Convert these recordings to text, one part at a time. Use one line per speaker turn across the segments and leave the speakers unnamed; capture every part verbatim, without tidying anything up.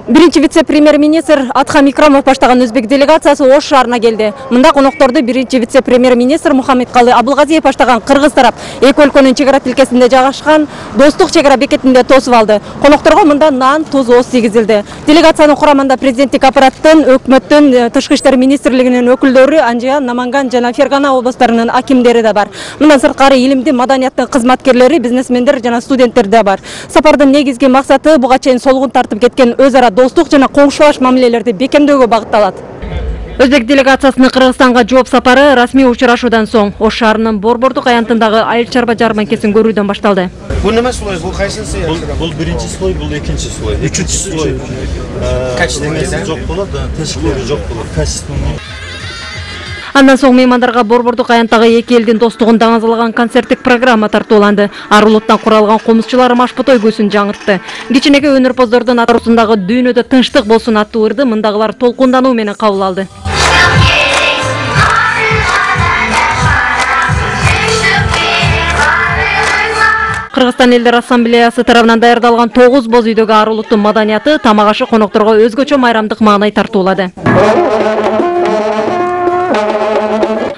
Биринчи вице-премьер-министр Атхам Икрамов баштаган өзбек делегациясы Ош шаарына келди. Мында конокторду биринчи вице-премьер-министр Мухаммедкалы Абылгазиев баштаган кыргыз тарап эки өлкөнүн чек ара тилкесинде жайгашкан Достук чек ара бекетинде тосуп алды. Конокторго мында нан, туз, оз тийгизилди. Делегациянын курамында президенттик аппараттын, өкмөттүн, тышкы иштер министрлигинин өкүлдөрү, Анжиян, Наманган жана Фергана облустарынын акимдери да бар. Мындан сырткары илимди, маданияттын кызматкерлери, бизнесмендер жана студенттер да бар. Сапардын негизги максаты буга чейин солгун тартып кеткен өз ара достук жана коңшулаш мамилелерди бекемдөөгө багытталат. Өзбек делегациясынын Кыргызстанга жооп сапары расмий учурашуудан соң Ош шаарынын Борбордук аянтындагы айыл чарба жарманкесин көрүүдөн башталды.
Бул неме слой? Бул кайсынысы?
Бул биринчи слой, бул экинчи слой. Үчүнчү слой. Качествосы жок болот, тешиктери жок болот. Качественный.
Андан соң меймандарга Борбордук аянттагы эки элдин достугун даңазалаган концерттик программа тартууланды. Ар улуттан куралган комузчулар машпото көсүн жаңыртты. Кичинекей өнөрпоздордун атарусундагы дүйнөдө тынчтык болсун аттуу ырды мындагылар толкундануу менен кабыл алды. Кыргызстан элдер ассамблеясы тарабынан даярдалган тогуз боз үйдөгү ар улуттун маданияты тамак ашы конокторго өзгөчө майрамдык маанай тартуулады.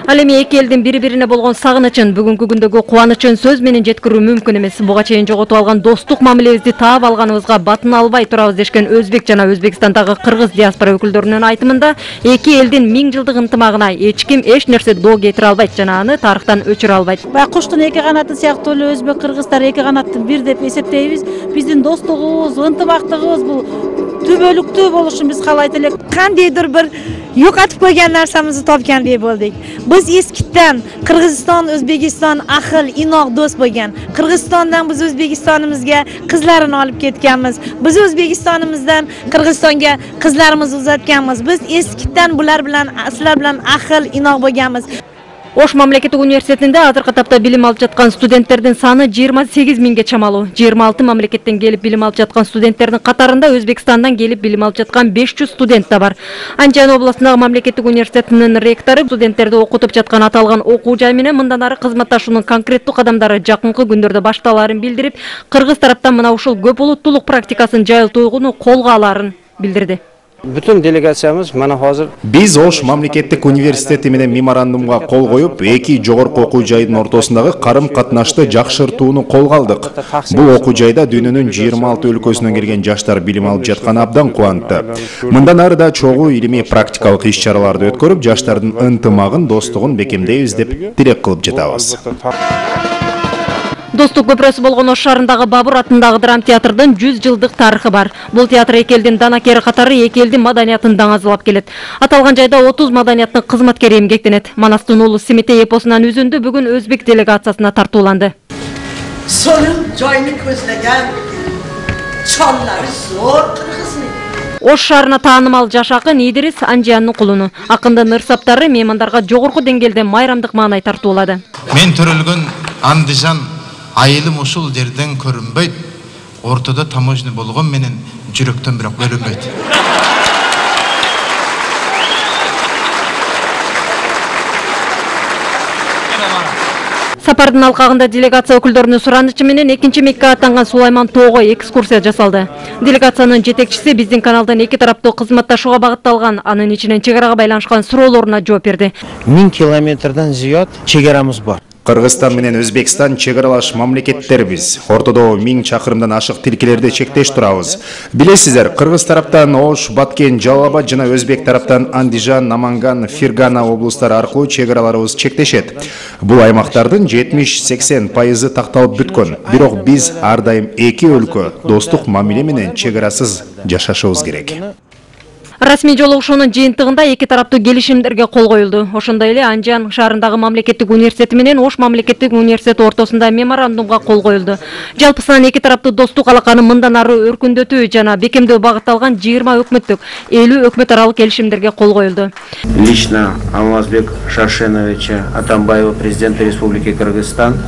Ал эми эки элдин бири-бирине болгон сагынычын, бүгүнкү күндөгү кубанычын сөз менен жеткирүү мүмкүн эмес. Буга чейин жоготуп алган достук мамилебизди таап алганыбызга батын албай турабыз дешкен Өзбек жана Өзбекстандагы кыргыз диаспора өкүлдөрүнүн айтымында эки элдин миң жылдык ынтымагына эч ким эч нерсе доо кетире албайт жана аны тарыхтан өчүрө албайт.
Баягы куштун эки канаты сыяктуу эле өзбек кыргыздар эки канаттын бир деп эсептейбиз. Биздин достугубуз, ынтымактыгыбыз бул түбөлүктүү болушун биз каалайт элек.
Кандайдыр бир юкатып койгон нарсамызды топкандай болдук. Biz eskiden Kırgızistan, Özbekistan ahıl, inoq do'st bo'lgan. Kırgızistandan biz O'zbekistonimizga qizlarini olib ketganmiz. Biz O'zbekistonimizdan Kırgızistanga qizlarimizni uzatganmiz. Biz eskiden bular bilan, sizlar bilan ahıl, inoq bo'lganmiz.
Ош мамлекеттик университетинде азыркы тапта билим алып жаткан студенттердин саны жыйырма сегиз миңге чамалуу. жыйырма алты мамлекеттен келип билим алып жаткан студенттердин катарында Өзбекстандан келип билим алып жаткан беш жүз студент да бар. Анжан областындагы мамлекеттик университетинин ректору студенттерди окутуп жаткан аталган окуу жай менен мындан ары кызматташуунун конкреттүү кадамдары жакынкы күндөрдө башталаарын билдирип, кыргыз тараптан мына ушул көп улуттуулук практикасын жайылтууну колго алаарын билдирди.
Бүтүн делегациябыз мана азыр
биз Ош мамлекеттик университети менен меморандумга кол коюп, эки жогорку окуу жайдын ортосундагы карым катнашты жакшыртууну колго алдык. Бул окуу жайда дүйнөнүн жыйырма алты өлкөсүнөн келген жаштар билим алып жатканы абдан кубантты. Мындан ары да чогуу илимий практикалык иш-чараларды өткөрүп, жаштардын ынтымагын, достугун бекемдейбиз деп тилек кылып жатабыз.
Достук көпүрөсү болгон Ош шаарындагы Бабур атындагы драм театрдын жүз жылдык тарыхы бар. Бул театр эки элдин данакери катары эки элдин маданиятын даңазалап келет. Аталган жайда отуз маданияттын кызматкери эмгектенет. Манастын уулу Семетей эпосунан үзүндү бүгүн Өзбек делегациясына тартууланды.
Сонун жайны көздөгөн чонлары зор кыргызмын.
Ош шаарына таанымал жаш акын Идирис Анжиянын кулуну. Акындын ырсаптары меймандарга жогорку деңгээлде майрамдык маанай тартуулады.
Мен төрөлгөн Андижан айылым ушул жерден көрүнбөйт. Ортодо таможня болгон менен жүрөктөн бирок көрүнбөйт.
Сапардын алкагында делегация өкүлдөрүнүн суранычы менен экинчи Мекке аттанган Сулайман тоого экскурсия жасалды. Делегациянын жетекчиси биздин каналдын эки тараптуу кызматташууга багытталган, анын ичинен чек арага байланышкан суроолоруна жооп берди.
миң километрден зыяд чек арамыз бар.
Кыргызстан менен Өзбекстан чек аралаш мамлекеттербиз. Ортодо миң чакырымдан ашык тилкелерди чектеш турабыз. Билесиздер, кыргыз тараптан Ош, Баткен, Жалал Абад жана Өзбек тараптан Андижан, Наманган, Фергана облустары аркылуу чек араларыбыз чектешет. Бул аймактардын жетимиш сексен пайызы такталып бүткөн. Бирок биз ар дайым эки өлкө достук мамиле менен чек арасыз жашашыбыз керек.
Расмий жолугушуунун жыйынтыгында эки тараптуу келишимдерге кол коюлду. Ошондой эле Анжан шаарындагы мамлекеттик университети менен Ош мамлекеттик университети ортосунда меморандумга кол коюлду. Жалпысынан эки тараптуу достук алаканы мындан ары өркүндөтүү жана бекемдөө багытталган жыйырма өкмөттүк, элүү өкмөт аралык келишимдерге кол коюлду.
Лично Алмазбек Шаршеновича Атамбаева, президента Республики Кыргызстан,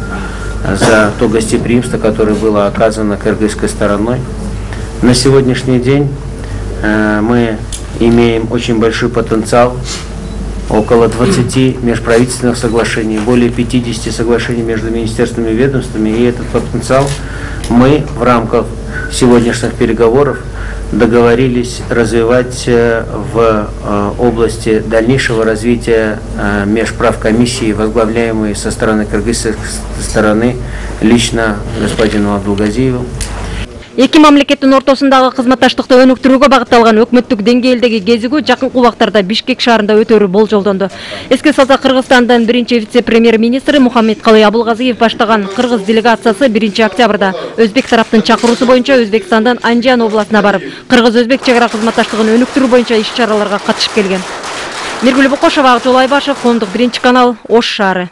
за то гостеприимство, которое было оказано кыргызской стороной. На сегодняшний день э, мы имеем очень большой потенциал, около двадцати межправительственных соглашений, более пятидесяти соглашений между министерствами и ведомствами, и этот потенциал мы в рамках сегодняшних переговоров договорились развивать в области дальнейшего развития межправкомиссии, возглавляемой со стороны кыргызской стороны лично господину Абдулгазиеву.
Эки мамлекеттин ортосундагы кызматташтыкты өнүктүрүүгө багытталган өкмөттүк деңгээлдеги кезигүү жакынкы убактарда Бишкек шаарында өтөрү болжолдондо. Эске салсак, Кыргызстандын биринчи вице-премьер-министри Мухаммедкалый Абылгазиев баштаган кыргыз делегациясы биринчи октябрда өзбек тараптын чакыруусу боюнча Өзбекстандын Анжан областына барып, кыргыз-өзбек чек ара кызматташтыгын өнүктүрүү боюнча иш-чараларга катышып келген. Миргүл Бокошова, Акжол Айбашев, Коомдук биринчи канал, Ош шаары.